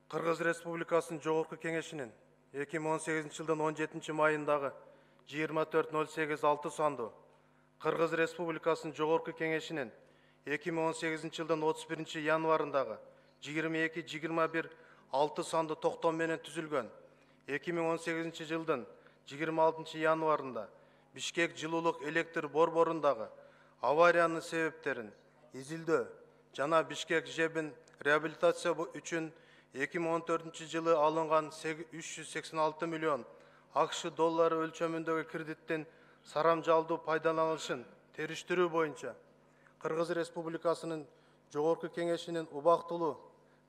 Кыргыз Республикасынын Жогорку Кеңешинин 2018 жылдын 17 майындагы 24.08.6 санду Кыргыз Республикасынын Жогорку Кеңешинин 2018 жылдын 31 январындагы 22.21.6 санду токтом менен түзүлгөн 2018 жылдын 26 январында Бишкек жылуулук электр борборундагы авариянын себептерин изилдөө жана Бишкек ЖЭБин реабилитация үчүн 2014 жылы алынган 386 миллион АКШ доллары өлчөмүндөгү кредиттин сарамжалдуу пайдаланылышын териштирүү боюнча Кыргыз Республикасынын Жогорку Кеңешинин убактылуу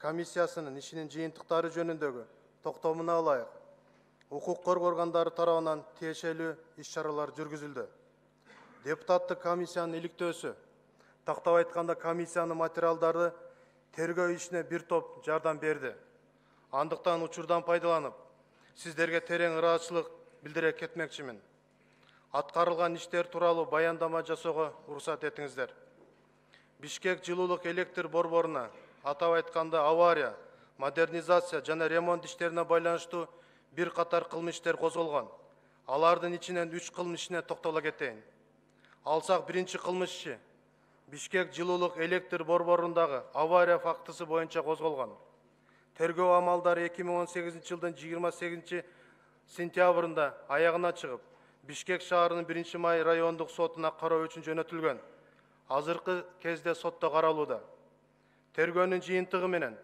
комиссиясынын ишинин жыйынтыктары жөнүндөгү токтомуна ылайык укук коргоо органдары тарабынан тиешелүү иш-чаралар жүргүзүлдү. Депутаттык комиссиянын иликтөөсү, тактап айтканда комиссиянын материалдары тергөө ишине бир топ жардам берди. Андыктан учурдан пайдаланып, сиздерге терең ыраазычылык билдире кетмекчимин. Аткарылган иштер тууралуу баяндама жасоого уруксат этиңиздер. Бишкек жылуулук электр борборуна, атап айтканда авария, модернизация жана ремонт иштерине байланыштуу бир катар кылмыш иштер козголгон. Алардын ичинен 3 кылмыш ишине токтоло кетейин. Алсак, биринчи кылмыш иши Бишкек жылуулук электр борборундагы авария фактысы боюнча козголгон. Тергөө амалдары 2018 жылдын 28 сентябрында аягына чыгып, Бишкек шаарынын 1 май райондук сотуна кароо үчүн жөнөтүлгөн. Азыркы кезде сотто каралууда. Тергөөнүн жыйынтыгы менен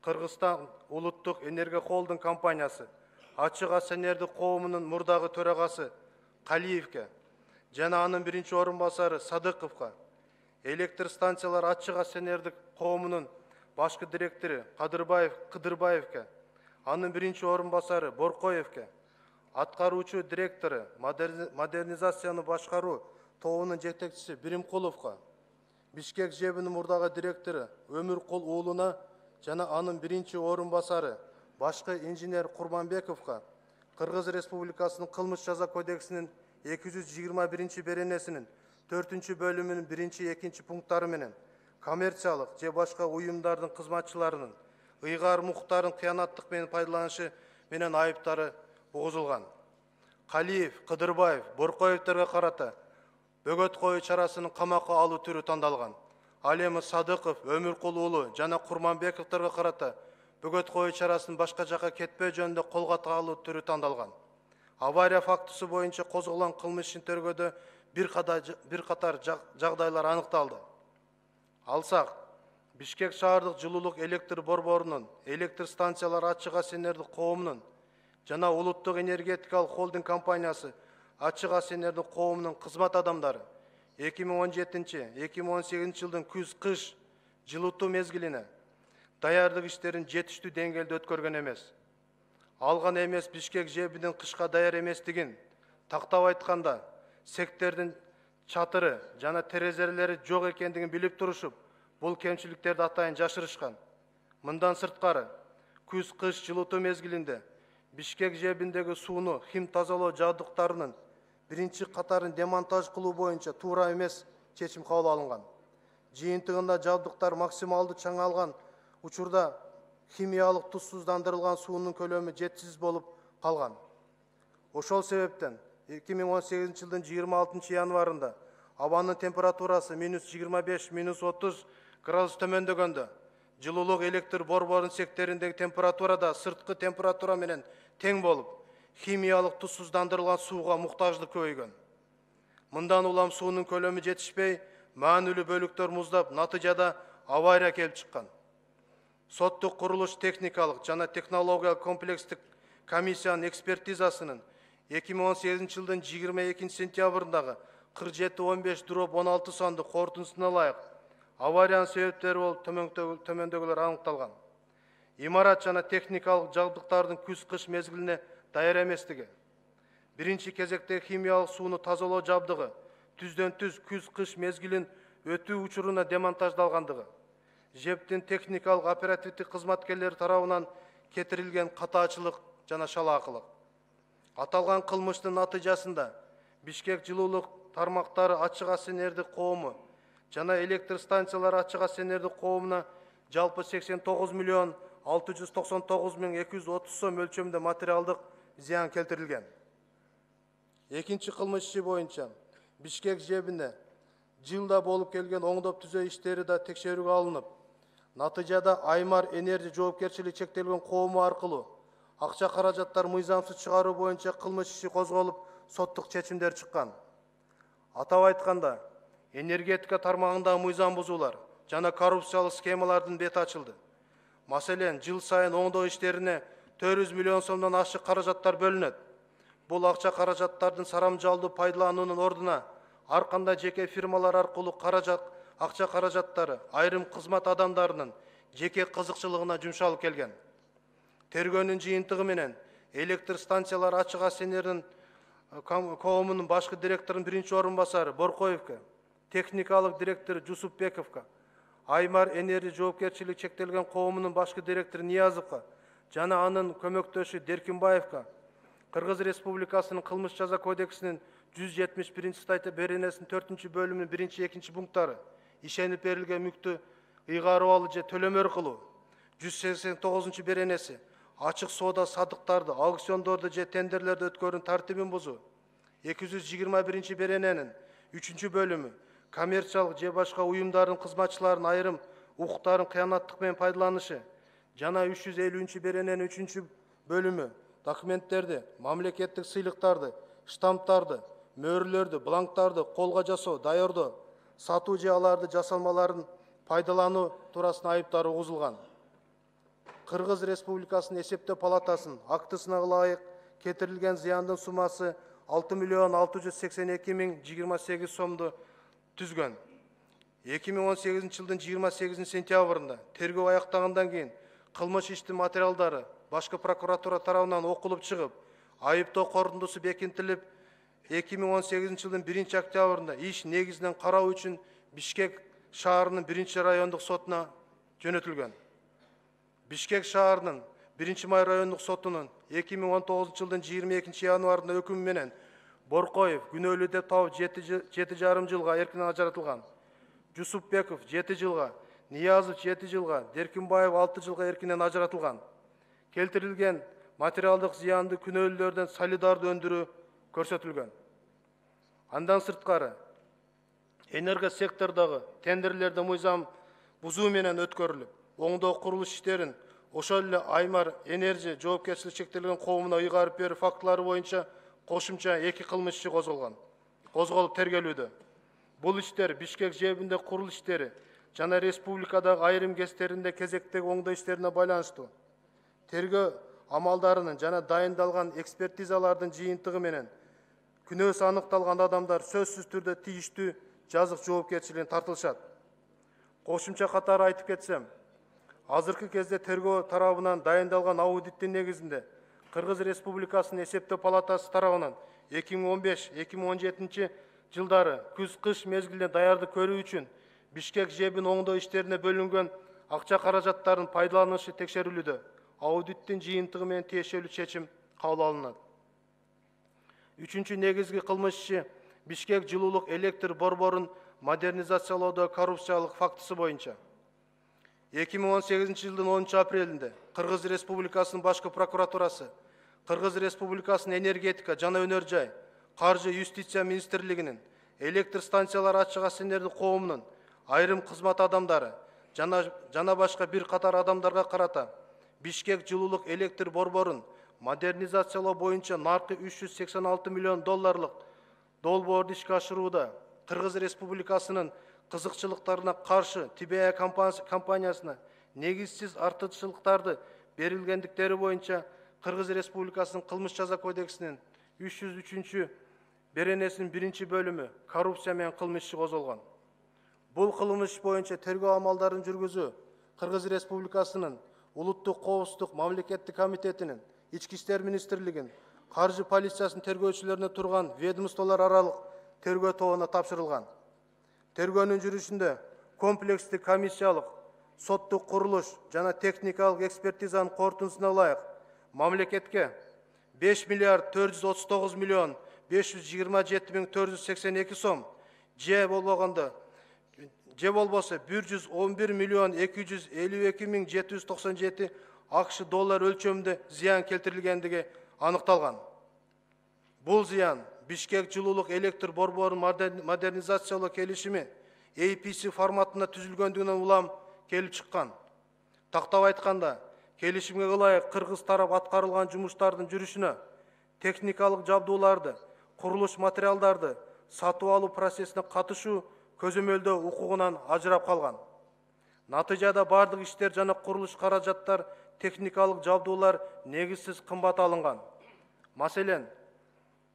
Кыргызстан улуттук энергия холдинг компаниясы ачык акционердик коомунун мурдагы төрагасы Калиевке жана анын биринчи орун басары Садыковго, электр станциялар ачык акционердик коомунун башкы директору Кыдырбаевке, анын биринчи орун басары Боркоевке, аткаруучу директору модернизацияны башкаруу тобунун жетекчиси Биримкуловго, Бишкек ЖЭБинин мурдагы директору Өмүркул уулуна жана анын биринчи орун басары башкы инженер Курманбековго Кыргыз Республикасынын кылмыш жаза кодексинин 221 беренесинин 4 бөлүмүнүн 1-2 пункттары менен коммерциялык же башка уюмдардын кызматчыларынын ыйгар муктарын кыянаттык менен пайдаланышы менен айыптары угузулган. Калиев, Кыдырбаев, Боркоевтерге карата бөгөт коюу чарасынын камакка алуу түрү тандалган. Ал эми Садыков, Өмүркул уулу жана Курманбековтерге карата бөгөт коюу чарасынын башка жакка кетпөө жөнүндө колго алуу түрү тандалган. Авария фактысы боюнча козголгон кылмыштын тергөөдө бир катар жагдайлар аныкталды. Алсак, Бишкек шаардык жылуулук электр борборунун, электр станциялар ачык акционердик коомунун жана улуттук энергетикалык холдинг компаниясы ачык акционердик коомунун кызмат адамдары 2017-2018 жылдын күз-кыш жылытуу мезгилине даярдык иштерин жетиштүү деңгээлде өткөргөн эмес. Алган эмес Бишкек ЖЭБинин кышка даяр эместигин, тактап айтканда, сектердин чатыры жана терезелери жок экендигин билип турушуп, бул кемчиликтерди атайын жашырышкан. Мындан сырткары, күз-кыш жылытуу мезгилинде Бишкек ЖЭБиндеги сууну хим тазалоо жабдыктарынын биринчи катарын демонтаж кылуу боюнча туура эмес чечим кабыл алынган. Жыйынтыгында жабдыктар максималдуу чаңалган учурда химиялык тузсуздандырылган суунун көлөмү жетишсиз болуп калган. Ошол себептен 2018 жылдын 26 январында абанын температурасы -25–30 градус төмөндөгөндө жылуулук электр борборунун сектериндеги температура да сырткы температура менен тең болуп, химиялык тузсуздандырылган сууга муктаждык көбөйгөн. Мындан улам суунун көлөмү жетишпей, маанилүү бөлүктөр муздап, натыйжада авария келип чыккан. Соттук курулуш техникалык жана технологиялык комплекстик комиссиянын экспертизасынын 2018 жылдын 22 сентябрындагы 47-15/16 санды корутундусуна ылайык авариянын себептери болуп төмөндөгүлөр аныкталган. Имарат жана техникалык жабдыктардын күз-кыш мезгилине даяр эместиги, биринчи кезекте химиялык сууну тазалоо жабдыгы түздөн-түз күз-кыш мезгилин өтүү учуруна демонтаждалгандыгы, ЖЭБтин техникалык оперативдик кызматкерлери тарабынан кетирилген катаачылык жана шалаакылык. Аталган кылмыштын натыйжасында Бишкек жылуулук тармактары ачык акционердик коому жана электр станциялары ачык акционердик коомуна жалпы 89 миллион 699.230 сом өлчөмүндө материалдык зыян келтирилген. Экинчи кылмыш иши боюнча Бишкек жебине жылда болуп келген оңдоп түзөө иштери да текшерүүгө алынып, натыйжада Аймар Энерджи жоопкерчилиги чектелген коому аркылуу акча каражаттар мыйзамсыз чыгаруу боюнча кылмыш иши козголуп, соттук чечимдер чыккан. Атап айтканда, энергетика тармагындагы мыйзам бузуулар жана коррупциялык схемалардын бети ачылды. Маселен, жыл сайын оңдоо иштерине 400 миллион сомдон ашык каражаттар бөлүнөт. Бул акча каражаттардын сарамжалдуу пайдалануунун ордуна ар кандай жеке фирмалар аркылуу акча каражаттары айрым кызмат адамдарынын жеке кызыкчылыгына жумшалып келген. Тергөөнүн жыйынтыгы менен электр станциялар ачык АСНРдин коомунун башкы директорунун биринчи орун басары Боркоевго, техникалык директор Жусупбековго, Аймар Энерджи жоопкерчилиги чектелген коомунун башкы директору Ниязовго жана анын көмөктөшү Деркинбаевго Кыргыз Республикасынын кылмыш жаза кодексинин 171 статья беренесинин 4-бөлүмүнүн 1-2 пункттары ишенип берилген мүктү ыйгарып алуу же төлөмөр кылуу, 189 беренеси ачык соода садыктарды, аукциондорду же тендерлерди өткөрүүнүн тартибин бузуу, 221 берененин 3-бөлүмү коммерциялык же башка уюмдардын кызматчыларынын айрым укуктарын кыянаттык менен пайдаланышы жана 350 берененин 3-бөлүмү документтерди, мамлекеттик сыйлыктарды, штамптарды, мөөрлөрдү, бланктарды колго жасоо, даярдоо, сатуу же аларды жасалмаларын пайдалануу туурасында айыптар угузулган. Кыргыз Республикасынын эсептөө палатасынын актысына ылайык кетирилген зыяндын суммасы 6.682.028 сомду түзгөн. 2018 жылдын 28 сентябрында тергөө аяктагандан кийин кылмыш иштин материалдары башкы прокуратура тарабынан окулуп чыгып, айыптоо корутундусу бекитилип, 2018 жылдын 1 октябрында иш негизинен кароо үчүн Бишкек шаарынын 1 райондук сотуна жөнөтүлгөн. Бишкек шаарынын 1 май райондук сотунун 2019 жылдын 22 январында өкүмү менен Боркоев күнөөлүү деп табылып 7,5 жылга эркинен ажыратылган. Жусупбеков 7 жылга, Ниязов 7 жылга, Деркинбаев 6 жылга эркинен ажыратылган. Келтирилген материалдык зыянды күнөөлүүлөрдөн солидардуу өндүрүү көрсөтүлгөн. Андан сырткары, энерго сектордогу тендерлерди мыйзам бузуу менен өткөрүлүп, оңдоо курулуш иштерин ошол эле Аймар Энерджи жоопкерчилиги чектелген коомуна ыйгарып берүү фактылары боюнча кошумча 2 кылмыш иши козголуп тергелүүдө. Бул иштер Бишкек жебинде курулуш иштери жана республикадагы айрым кездеринде кезектеги оңдоо иштерине байланыштуу. Тергөө амалдарынын жана дайындалган экспертизалардын жыйынтыгы менен күнөөсү аныкталган адамдар сөзсүз түрдө тийиштүү жазык жоопкерчилигине тартылышат. Кошумча катары айтып кетсем, азыркы кезде тергөө тарабынан дайындалган аудиттин негизинде Кыргыз Республикасынын эсептөө палатасы тарабынан 2015-2017 жылдары күз-кыш мезгилинде даярдык көрүү үчүн Бишкек жебин оңдоо иштерине бөлүнгөн акча каражаттарын пайдаланышы текшерилүүдө. Аудиттин жыйынтыгы менен тиешелүү чечим кабыл алынат. 3-чү негизги кылмыш иши Бишкек жылуулук электр борборун модернизациялоодо коррупциялык фактысы боюнча. 2018 жылдын 10 апрелинде Кыргыз Республикасынын башкы прокуратурасы, Кыргыз Республикасынын энергетика жана өнөр жай, каржы юстиция министрлигинин, электр станциялар ачык АСНРдин коомунун айрым кызмат адамдары жана башка бир катар адамдарга карата Бишкек жылуулук электр борборун модернизациялоо боюнча наркы $386 миллион долбоорду ишке ашырууда Кыргыз Республикасынын кызыкчылыктарына каршы ТБА компаниясына негизсиз артыкчылыктарды берилгендиктери боюнча Кыргыз Республикасынын кылмыш жаза кодексинин 303 беренесинин 1-бөлүмү коррупция менен кылмыш иши козголгон. Бул кылмыш боюнча тергөө амалдарын жүргүзүү Кыргыз Республикасынын Улуттук коопсуздук мамлекеттик комитетинин, Ички иштер министрлигинин, каржы полициясынын тергөөчүлөрүнө турган ведомстволор аралык тергөө тобуна тапшырылган. Тергөөнүн жүрүшүндө комплекстик комиссиялык, соттук курулуш жана техникалык экспертизанын корутундусуна ылайык мамлекетке 5.439.527.482 сом же болбогондо же болбосо 111 миллион 252 миң 797 АКШ доллар өлчөмүндө зыян келтирилгендиги аныкталган. Бул зыян Бишкек жылуулук электр борборун модернизациялоо келишими APC форматында түзүлгөндүгүнөн улам келип чыккан. Тактап айтканда, келишимге ылайык кыргыз тарап аткарылган жумуштардын жүрүшүнө техникалык жабдууларды, курулуш материалдарды сатып алуу процессине катышуу көзөмөлдөө укугунан ажырап калган. Натыйжада бардык иштер жана курулуш каражаттар, техникалык жабдуулар негизсиз кымбат алынган. Маселен,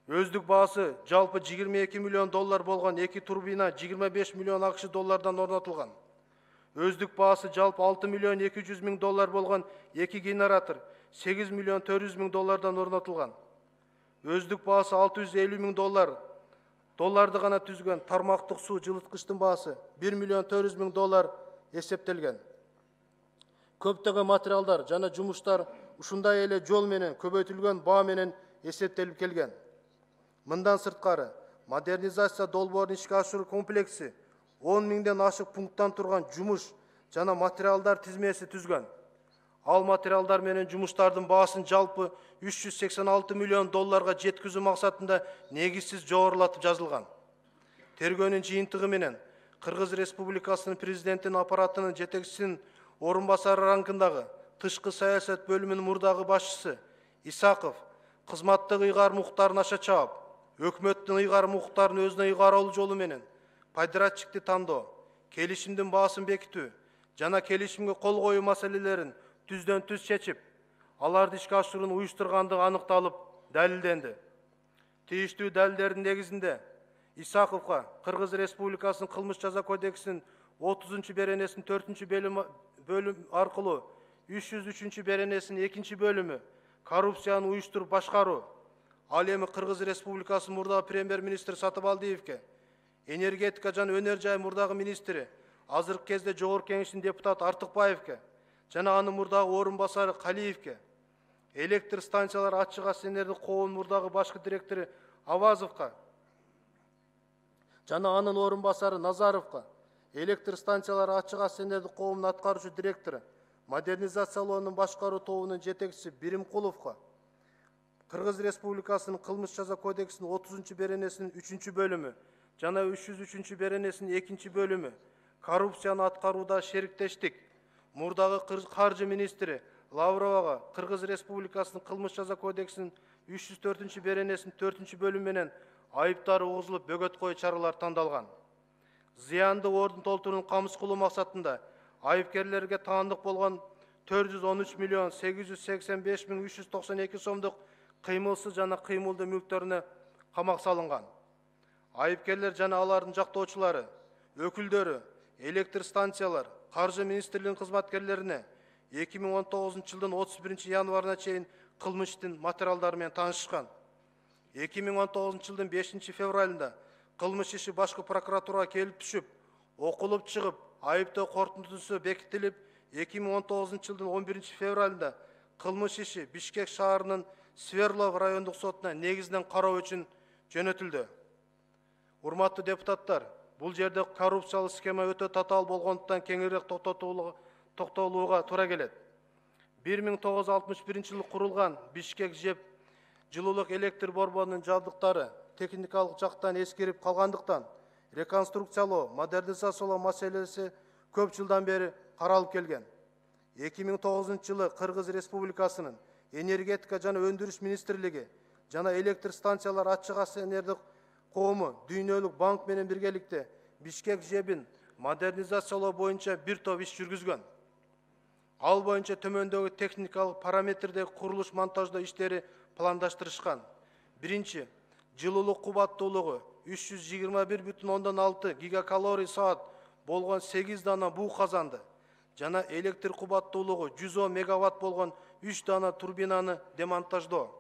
өздүк баасы жалпы 22 миллион доллар болгон 2 турбина 25 миллион АКШ доллардан орнотулган. Өздүк баасы жалпы 6 миллион 200 миң доллар болгон 2 генератор 8 миллион 400 миң доллардан орнотулган. Өздүк баасы 650 миң долларды гана түзгөн тармактык суу жылыткычтын баасы 1 миллион 400 миң доллар эсептелген. Көптөгөн материалдар жана жумуштар ушундай эле жол менен көбөйтүлгөн баа менен эсептелип келген. Мындан сырткары, модернизация долбоорун ишке ашыруу комплекси 10 миңден ашык пункттан турган жумуш жана материалдар тизмеси түзгөн. Ал материалдар менен жумуштардын баасын жалпы 386 миллион долларга жеткизүү максатында негизсиз жогорулатып жазылган. Тергөөнүн жыйынтыгы менен Кыргыз Республикасынын президентинин аппаратынын жетекчисинин орун басары рангындагы тышкы саясат бөлүмүнүн мурдагы башчысы Исаков кызматтык ыйгарым укуктарын аша чаап, өкмөттүн ыйгарым укуктарын өзүнө ыйгаралуу жолу менен подрядчикти тандоо, келишимдин баасын бекитүү жана келишимге кол коюу маселелерин түздөн түз чечип, аларды ишке ашырууну уюштургандыгы аныкталып, далилденди. Тийиштүү далилдердин негизинде Исаковго Кыргыз Республикасынын кылмыш жаза кодексинин 30-беренесинин 4-бөлүм аркылуу 303-беренесинин 2-бөлүмү коррупцияны уюштуруп башкаруу, ал эми Кыргыз Республикасынын мурдагы премьер-министри Сатыбалдиевге, энергетика жана өнөр жай мурдагы министри, азыркы кезде Жогорку Кеңештин депутаты Артыкбаевге жана анын мурдагы орун басары Калиевге, электр станциялар ачык акционердик коомунун мурдагы башкы директору Авазовго жана анын орун басары Назаровго, электр станциялар ачык акционердик коомунун аткаруучу директору, модернизациялоонун башкаруу тобунун жетекчиси Биримкуловго, Кыргыз Республикасынын кылмыш жаза кодексинин 30-беренесинин 3-бөлүмү жана 303-беренесинин 2-бөлүмү коррупцияны аткарууда шериктештик, мурдагы каржы министри Лавровага Кыргыз Республикасынын кылмыш жаза кодексинин 304-беренесинин 4-бөлүмү менен айыптар угузулуп бөгөт коюу чаралар тандалган. Зыянды ордун толтурууну камсыз кылуу максатында айыпкерлерге таандык болгон 413 миллион 885 миң 392 сомдук кыймылсыз жана кыймылдуу мүлктөрүнө камак салынган. Айыпкерлер жана алардын жактоочулары, өкүлдөрү, электр станциялар, каржы министрлигинин кызматкерлерине 2019 жылдын 31 январына чейин кылмыштын материалдары менен таанышышкан. 2019 жылдын 5 февралында кылмыш иши башкы прокуратурага келип түшүп, окулуп чыгып, айыптоо корутундусу бекитилип, 2019 жылдын 11 февралында кылмыш иши Бишкек шаарынын Сверлов райондук сотуна негизинен кароо үчүн жөнөтүлдү. Урматтуу депутаттар, бул жерде коррупциялык схема өтө татаал болгондуктан кеңирээк токтолууга туура келет. 1961 жылы курулган Бишкек ЖЭБ жылуулук электр борборунун жабдыктары техникалык жактан эскирип калгандыктан реконструкциялоо, модернизациялоо маселеси көп жылдан бери каралып келген. 2009 жылы Кыргыз Республикасынын энергетика жана өндүрүш министрлиги жана электр станциялар ачык акционердик коому Дүйнөлүк банк менен биргеликте Бишкек ЖЭБин модернизациялоо боюнча бир топ иш жүргүзгөн. Ал боюнча төмөндөгү техникалык параметрдеги курулуш монтаждоо иштери пландаштырышкан. Биринчи, жылуулук кубаттуулугу 321,6 гигакалорий саат болгон 8 дана буу казанды жана электр кубаттуулугу 110 мегаватт болгон 3 дана турбинаны демонтаждоо.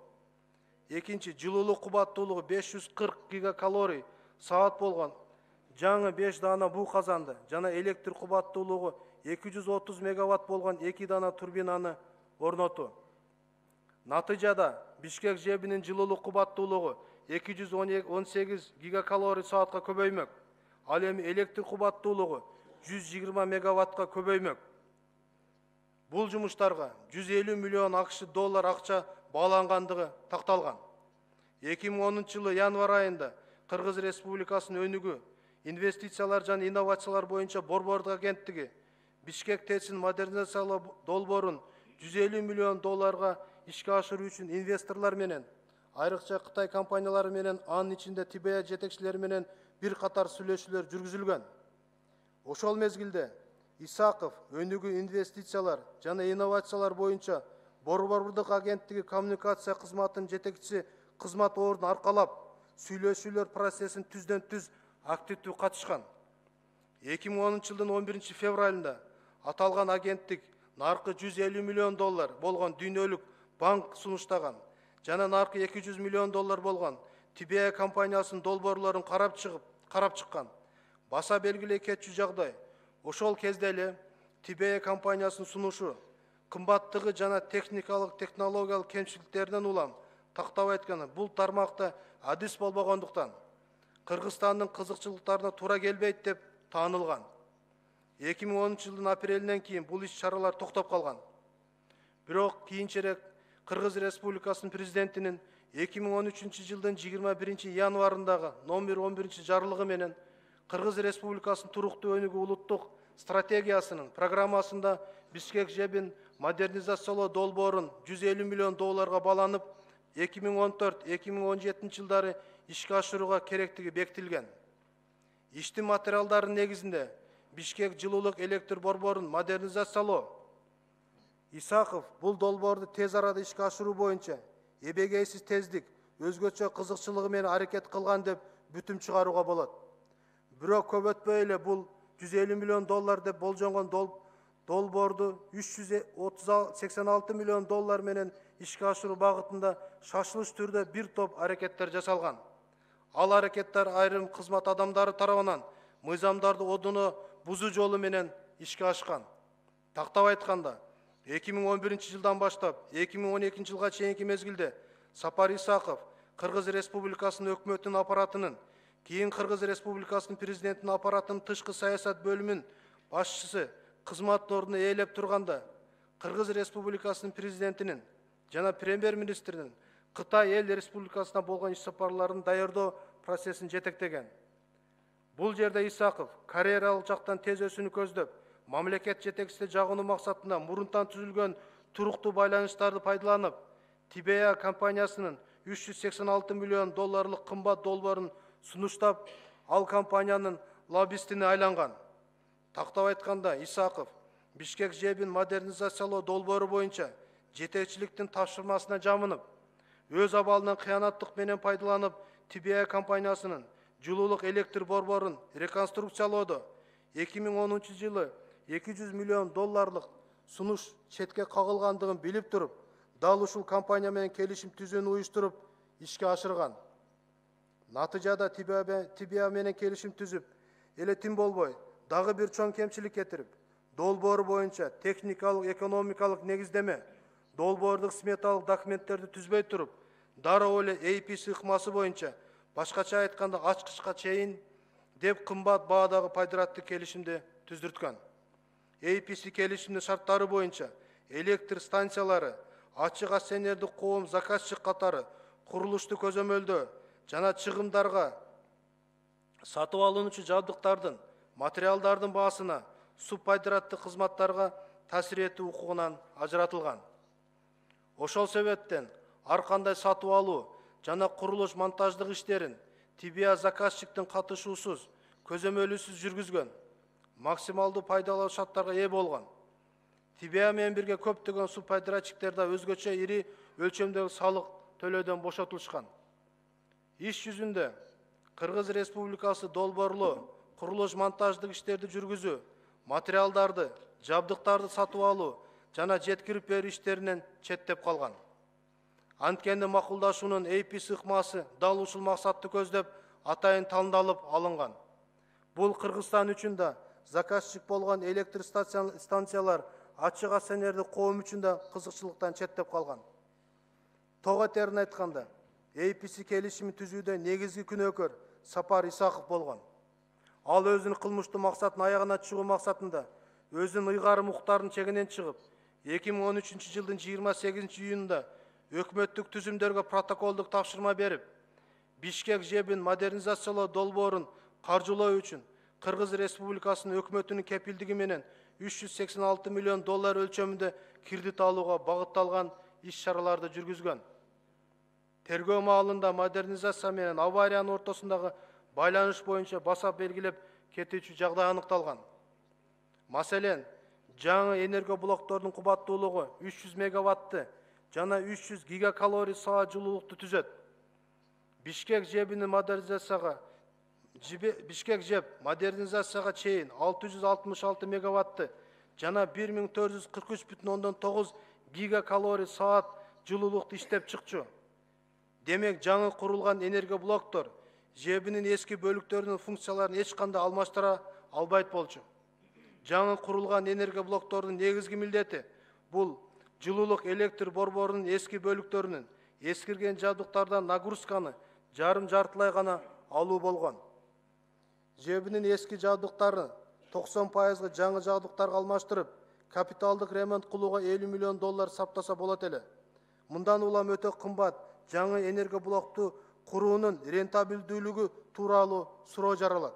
Экинчи, жылуулук кубаттуулугу 540 гигакалорий саат болгон жаңы 5 дана буу казанды жана электр кубаттуулугу 230 мегаватт болгон 2 дана турбинаны орнотуу. Натыйжада Бишкек ЖЭБинин жылуулук кубаттуулугу 218 гигакалорий саатка көбөймөк. Ал эми электр кубаттуулугу 120 мегаваттка көбөймөк. Бул жумуштарга 150 миллион АКШ доллар акча баалангандыгы такталган. 2010 жылы январь айында Кыргыз Республикасынын өнүгүү, инвестициялар жана инновациялар боюнча борбордук агенттиги Бишкек ТЭЦин модернизациялоо долбоорун 150 миллион долларга ишке ашыруу үчүн инвесторлор менен, айрыкча Кытай компаниялары менен, анын ичинде ТБА жетекчилери менен бир катар сүйлөшүүлөр жүргүзүлгөн. Ошол мезгилде Исаков өнүгүү, инвестициялар жана инновациялар боюнча борбордук агенттиги коммуникация кызматынын жетекчиси кызмат ордун аркалап, сүйлөшүүлөр процессин түздөн түз активдүү катышкан. 2010 жылдын 11 февралында аталган агенттик наркы 150 миллион доллар болгон дүйнөлүк банк сунуштаган жана наркы 200 миллион доллар болгон ТБА компаниясынын долбоорлорун карап чыккан. Баса белгилей кетчү жагдай, ошол кезде эле ТБА компаниясынын сунушу кымбаттыгы жана технологиялык кемчиликтеринен улам тактап айтканда бул тармакта адис болбогондуктан Кыргызстандын кызыкчылыктарына туура келбейт деп таанылган. 2010 жылдын апрелинен кийин бул иш-чаралар токтоп калган. Бирок кийинчерээк Кыргыз Республикасынын президентинин 2013 жылдын 21 январындагы номер 11 жарлыгы менен Кыргыз Республикасынын туруктуу өнүгүү улуттук стратегиясынын программасында Бишкек ЖЭБин модернизациялоо долбоорун 150 миллион долларга бааланып, 2014-2017 жылдары ишке ашырууга керектиги бекитилген. Иштин материалдарынын негизинде Бишкек жылуулук электр борборун модернизациялоо. Исаков бул долбоорду тез арада ишке ашыруу боюнча эбегейсиз тездик, өзгөчө кызыкчылыгы менен аракет кылган деп бүтүм чыгарууга болот. Бирок көп өтпөй эле бул 150 миллион доллар деп болжонгон долбоорду 386 миллион доллар менен ишке ашыруу багытында шашылыш түрдө бир топ аракеттер жасалган. Ал аракеттер айрым кызмат адамдары тарабынан мыйзамдарды одуно бузуу жолу менен ишке ашкан. Тактап айтканда, 2011 жылдан баштап 2012 жылга чейинки мезгилде Сапар Исаков Кыргыз Республикасынын өкмөтүнүн аппаратынын, кийин Кыргыз Республикасынын президентинин аппаратынын тышкы саясат бөлүмүнүн башчысы кызмат ордуна ээлеп турганда, Кыргыз Республикасынын президентинин жана премьер-министринин Кытай эл республикасына болгон иш сапарларын даярдоо процессин жетектеген. Бул жерде Исаков карьералык жактан тез өсүүнү көздөп, мамлекет жетекчиси жагынуу максатында мурунтан түзүлгөн туруктуу байланыштарды пайдаланып, ТБА компаниясынын 386 миллион долларлык кымбат долбоорун сунуштап, ал компаниянын лоббистине айланган. Тактап айтканда, Исаков Бишкек ЖЭБин модернизациялоо долбоору боюнча жетекчиликтин тапшырмасына жамынып, өз абалынан кыянаттык менен пайдаланып, ТБА компаниясынын жылуулук электр борборун реконструкциялоодо 2010 жылы 200 миллион долларлык сунуш четке кагылгандыгын билип туруп, дал ушул компания менен келишим түзүүнү уюштуруп, ишке ашырган. Натыйжада ТБА менен келишим түзүп, эле тим болбой, дагы бир чоң кемчилик кетирип, долбоору боюнча техникалык, экономикалык негиздеме, долбоордук сметалык документтерди түзбөй туруп, дароо эле APC ыкмасы боюнча, башкача айтканда ачкычка чейин деп кымбат баадагы пайдыраттык келишимди түздүрткөн. APC келишимдин шарттары боюнча электр станциялары, ачык акционердик коом заказчик катары курулушту көзөмөлдөө жана чыгымдарга, сатып алынуучу жабдыктардын, материалдардын баасына, субпайдыраттык кызматтарга таасир этүү укугунан ажыратылган. Ошол себептен ар кандай сатып алуу жана курулуш монтаждык иштерин ТБА заказчиктин катышуусуз, көзөмөлүсүз жүргүзгөн, максималдуу пайдалуу шарттарга ээ болгон. ТБА менен бирге көптөгөн субпайдыратчиктер да өзгөчө ири өлчөмдөгү салык төлөөдөн бошотулушкан. Иш жүзүндө Кыргыз Республикасы долбоорлоо, курулуш монтаждык иштерди жүргүзүү, материалдарды, жабдыктарды сатып алуу жана жеткирип берүү иштеринен четтеп калган. Анткени макулдашуунун APC ыкмасы дал ушул максатты көздөп атайын тандалып алынган. Бул Кыргызстан үчүн да, заказчик болгон электр станциялар, ачык акционердик коом үчүн да кызыкчылыктан четтеп калган. Тога терин айтканда, APC келишими түзүүдө негизги күнөөкөр Сапар Исаков болгон. ал өзүнүн кылмыштуу максатын аягына чыгуу максатында өзүнүн ыйгарым укуктарынын чегинен чыгып, 2013 жылдын 28 июнунда өкмөттүк түзүмдөргө протоколдук тапшырма берип, Бишкек жебин модернизациялоо долбоорун каржылоо үчүн Кыргыз Республикасынын өкмөтүнүн кепилдиги менен 386 миллион доллар өлчөмүндө кредит алууга багытталган иш-чараларды жүргүзгөн. Тергөө маалында модернизация менен авариянын ортосундагы байланыш боюнча баса белгилеп кетүүчү жагдай аныкталган. Маселен, жаңы энергоблоктордун кубаттуулугу 300 мегаватты жана 300 гигакалорий саат жылуулукту түзөт. Бишкек жебинин модернизацияга чейин 666 мегаватты жана 1443,9 гигакалорий саат жылуулукту иштеп чыкчу. Демек, жаңы курулган энергоблоктор жебинин эски бөлүктөрүнүн функцияларын эч кандай алмаштыра албайт болчу. Жаңы курулган энергоблоктордун негизги милдети бул жылуулук электр борборунун эски бөлүктөрүнүн эскирген жабдыктардан нагрузканы жарым-жартылай гана алуу болгон. Жебинин эски жабдыктарын 90% жаңы жабдыктарга алмаштырып, капиталдык ремонт кылууга 50 миллион доллар саптаса болот эле. Мындан улам өтө кымбат жаңы энергоблокту куруунун рентабелдүүлүгү тууралуу суроо жаралат.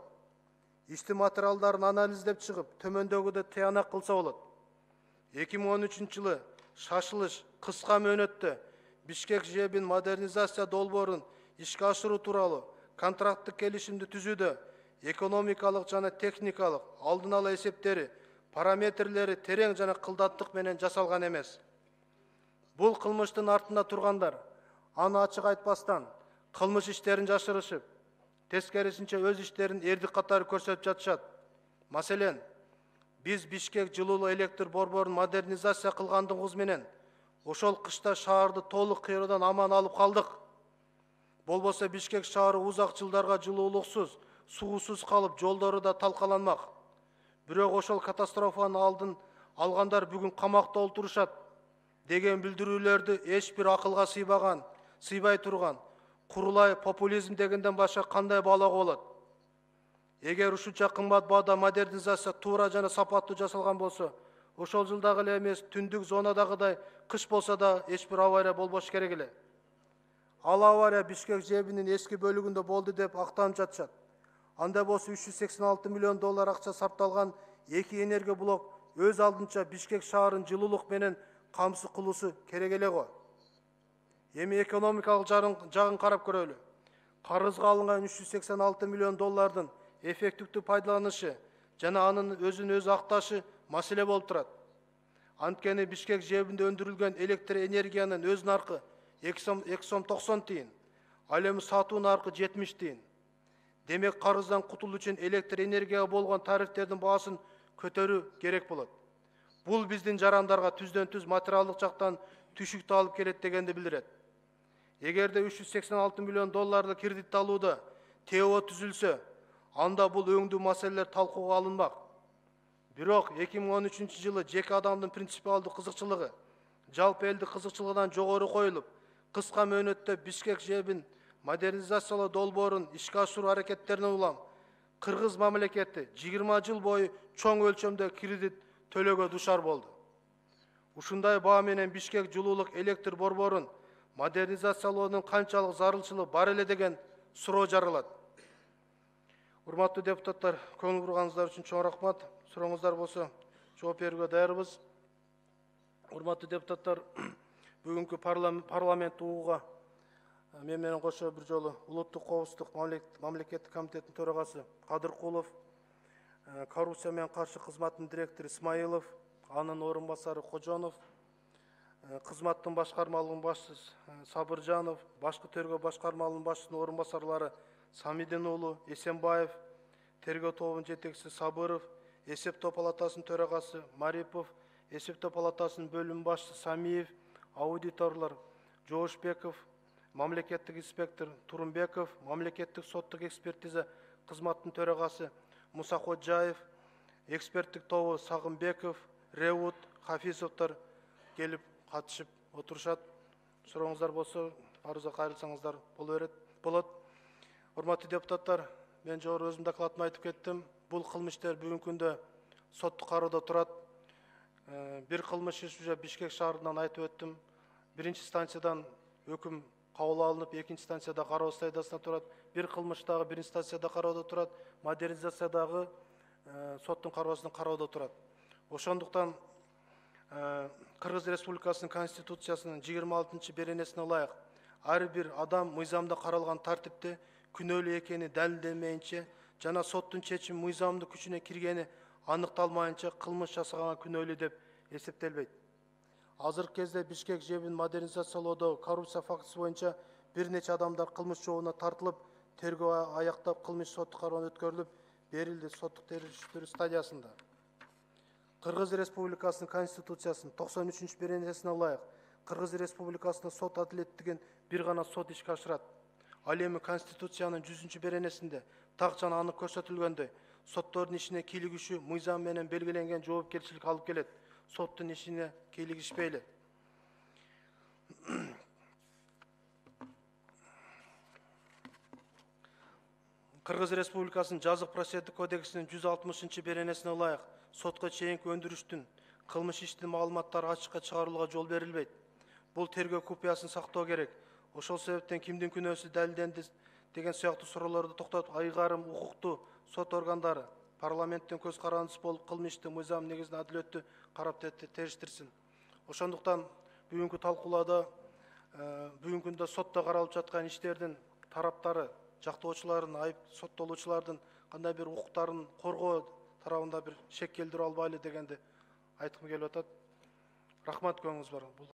Ишти материалдарын анализдеп чыгып, төмөндөгүдөй тыянак кылса болот. 2013 жылы шашылыш кыска мөөнөттө Бишкек жебин модернизация долбоорун ишке ашыруу тууралуу контракттык келишимди түзүүдө экономикалык жана техникалык алдын ала эсептери, параметрлери терең жана кылдаттык менен жасалган эмес. Бул кылмыштын артында тургандар аны ачык айтпастан кылмыш иштерин жашырышып, тескерисинче өз иштерин эрдик катары көрсөтүп жатышат. Маселен, биз Бишкек жылуулук электр борборун модернизация кылгандыгыбыз менен ошол кышта шаарды толук кыйроодан аман алып калдык. Болбосо Бишкек шаары узак жылдарга жылуулуксуз, суусуз калып, жолдору да талкаланмак. Бирок ошол катастрофанын алдын алгандар бүгүн камакта олтурушат деген билдирүүлөрдү эч бир акылга сыйбай турган курулай популизм дегенден башка кандай баалоого болот? Эгер ушунча кымбат баада модернизация туура жана сапаттуу жасалган болсо, ошол жылдагы эле эмес, түндүк зонадагыдай кыш болсо да эч бир авария болбош керек эле. Ал авария Бишкек жебинин эски бөлүгүндө болду деп актанып жатышат. Анда болсо 386 миллион доллар акча сарпталган эки энергоблок өз алдынча Бишкек шаарын жылуулук менен камсыз кылуусу керек эле го. Эми экономикалык жагын карап көрөлү. Карызга алынган 386 миллион доллардын эффективдүү пайдаланышы жана анын өзүн өзү акташы маселе болуп турат. Анткени Бишкек жебинде өндүрүлгөн электр энергиянын өз наркы 2 сом 90 тиын, ал эми сатуу наркы 70 тиын. Демек, карыздан кутулуу үчүн электр энергияга болгон тарифтердин баасын көтөрүү керек болот. Бул биздин жарандарга түздөн-түз материалдык жактан түшүктү алып келет дегенди билдирет. Эгерде 386 миллион долларлы кредит алууда ТО түзүлсө, анда бул өңдүү маселелер талкууга алынмак. Бирок 2013 жылы жеке адамдын принципиалдуу кызыкчылыгы жалпы элдик кызыкчылыгынан жогору коюлуп, кыска мөөнөттө Бишкек жебин модернизациялоо долбоорун ишке ашыруу аракеттеринен улам Кыргыз мамлекети 20 жыл бою чоң өлчөмдө кредит төлөөгө душар болду. Ушундай баа менен Бишкек жылуулук электр борборун модернизациялоонун канчалык зарылчылыгы бар эле деген суроо жаралат. Урматтуу депутаттар, көңүл бурганыңыздар үчүн чоң рахмат. Сурооңуздар болсо жооп берүүгө даярбыз. Урматтуу депутаттар, бүгүнкү парламент угууга мен менен кошо бир жолу Улуттук коопсуздук мамлекеттик комитетинин төрагасы Кадыркулов, коррупция менен каршы кызматтын директору Исмаилов, анын орун басары Кожонов, кызматтын башкармалыгынын башчысы Сабыржанов, башкы тергөө башкармалыгынын башчысынын орун басарлары Самидин уулу Эсенбаев, тергөө тобунун жетекчиси Сабыров, эсептөө палатасынын төрагасы Марипов, эсептөө палатасынын бөлүм башчысы Самиев, аудиторлор Жоошбеков, мамлекеттик инспектор Турунбеков, мамлекеттик соттук экспертиза кызматтын төрагасы Мусакоджаев, эксперттик тобу Сагынбеков, Реут, Хафизовдор келип катышып отурушат. Сурооңуздар болсо, арызга кайрылсаңыздар болот. Урматтуу депутаттар, мен жогору өзүм докладымда айтып кеттим. Бул кылмыштар бүгүнкү күндө соттук кароодо турат. Бир кылмыш иш уже Бишкек шаарынан айтып өттүм. Биринчи станциядан өкүм кабыл алынып, экинчи станцияда кароо стадиясында турат. Бир кылмыш дагы биринчи станцияда кароодо турат. Модернизациядагы соттун кароосунда кароодо турат. Ошондуктан Кыргыз Республикасынын Конституциясынын 26 беренесине ылайык ар бир адам мыйзамда каралган тартипте күнөөлүү экени далилденмейинче жана соттун чечими мыйзамдын күчүнө киргени аныкталмайынча кылмыш жасаганга күнөөлүү деп эсептелбейт. Азыркы кезде Бишкек жебин модернизациялоодо коррупция фактысы боюнча бир нече адамдар кылмыш жообуна тартылып, тергөө аяктап, кылмыш соттук кароодон өткөрүлүп берилди соттук териштирүү стадиясында. Кыргыз Республикасынын Конституциясынын 93 беренесине ылайык Кыргыз Республикасында сот адилеттигин бир гана сот ишке ашырат. Ал эми Конституциянын 100 беренесинде так жана анык көрсөтүлгөндөй соттордун ишине кийлигишүү мыйзам менен белгиленген жоопкерчилик алып келет. Соттун ишине кийлигишпейли. Кыргыз Республикасынын жазык процесстик кодексинин 160 беренесине ылайык сотко чейинки өндүрүштүн кылмыш иштин маалыматтары ачыкка чыгарууга жол берилбейт. Бул тергөө купуясын сактоо керек. Ошол себептен кимдин күнөөсү далилденди деген сыяктуу суроолорду токтотуп, айгарым укуктуу сот органдары парламенттин көз карандысы болуп кылмышты мыйзам негизинде адилеттүү карап териштирсин. Ошондуктан бүгүнкү талкуулоодо бүгүнкү күндө сотто каралып жаткан иштердин тараптары, жактоочулардын, айып соттолуучулардын кандай бир укуктарын коргоо тарабында бир шек келтирип албайлы дегенди айткым келип атат. Рахмат, көңүңүз бар.